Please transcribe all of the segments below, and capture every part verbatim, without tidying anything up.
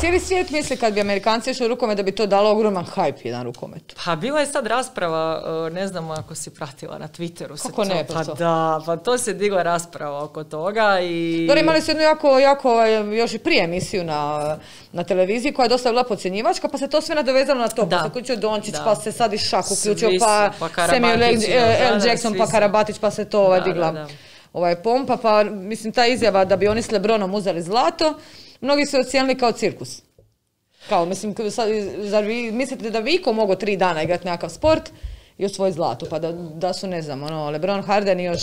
cijeli svijet misli kad bi Amerikanci išli u rukomet da bi to dalo ogroman hype jedan rukometu. Pa bila je sad rasprava, ne znam ako si pratila na Twitteru. Kako se to, ne? Pa to. da, pa to se digla rasprava oko toga i... Dobro, imali su jednu jako, jako, još i prije emisiju na, na televiziji koja je dosta bila podcjenjivačka, pa se to sve nadovezalo na to. Da. Pa se uključio Dončić, da. Pa se sad i Šak uključio, pa, pa Samuel L. Jackson, pa Karabatić, pa se to ovaj, digla da, da. Ovaj, pompa. Pa mislim, ta izjava da bi oni s LeBronom uzeli zlato, mnogi su ocijenili kao cirkus. Kao, mislim, sad, zar vi mislite da bi iko mogao tri dana igrati nekakav sport i osvojiti zlato, pa da, da su, ne znam, ono, LeBron, Harden i još,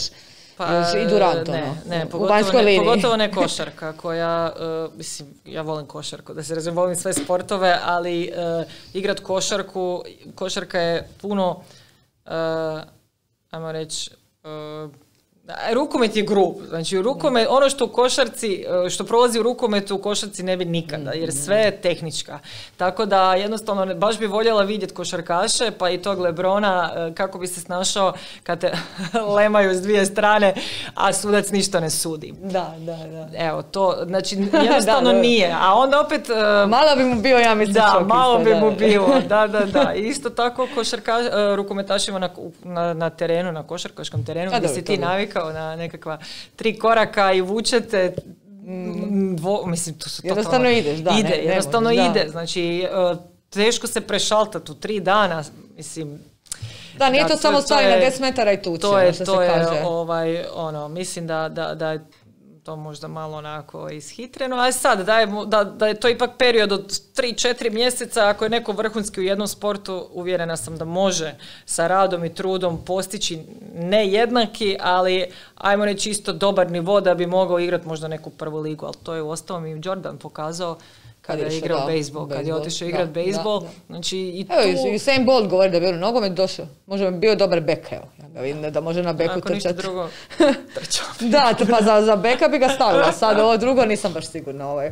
pa, još i Durant, ne, ono, ne, u pogotovo vanjskoj ne, liniji. Pogotovo ne košarka koja, uh, mislim, ja volim košarku, da se razumijem, volim sve sportove, ali uh, igrat košarku, košarka je puno, uh, ajmo reći, uh, rukomet je grub, znači rukomet, ono što u košarci, što prolazi u rukometu u košarci ne bi nikada, jer sve je tehnička. Tako da jednostavno baš bi voljela vidjeti košarkaše, pa i tog LeBrona, kako bi se snašao kad te lemaju s dvije strane, a sudac ništa ne sudi. Da, da, da. Evo, to, znači jednostavno da, da. Nije. A onda opet... Malo bi mu bio, ja mislim, da, čokista, malo bi da, mu bio, da, da, da. I isto tako košarka, rukometašima na, na, na terenu, na košarkaškom terenu, gdje si ti navikao na nekakva tri koraka i vučete, dvo, mislim, to su to jednostavno ideš, da. Ide, ne, jednostavno ne ide, znači teško se prešaltati u tri dana, mislim. Da, nije da, to, to samo stvari na deset metara i tuče, to je, što to se je, kaže. ovaj, ono, mislim da, da, da je to možda malo onako ishitreno, ali sad da je, da, da je to ipak period od tri četiri mjeseca, ako je neko vrhunski u jednom sportu, uvjerena sam da može sa radom i trudom postići ne jednaki, ali ajmo reći isto dobar nivo da bi mogao igrati možda neku prvu ligu, ali to je uostalom i Jordan pokazao kada je igrao bejsbol, kad je otišao igrati bejsbol. Znači, i tu... Evo, Usain Bolt govori da je bio nogomet došao. Možda bi bio dobar bek, evo. Ja ga vidim da može na beku trčati. Ako ništa drugo, trčao bi. Da, pa za, za beka bi ga stavila. Sad ovo drugo nisam baš sigurna. Ovaj.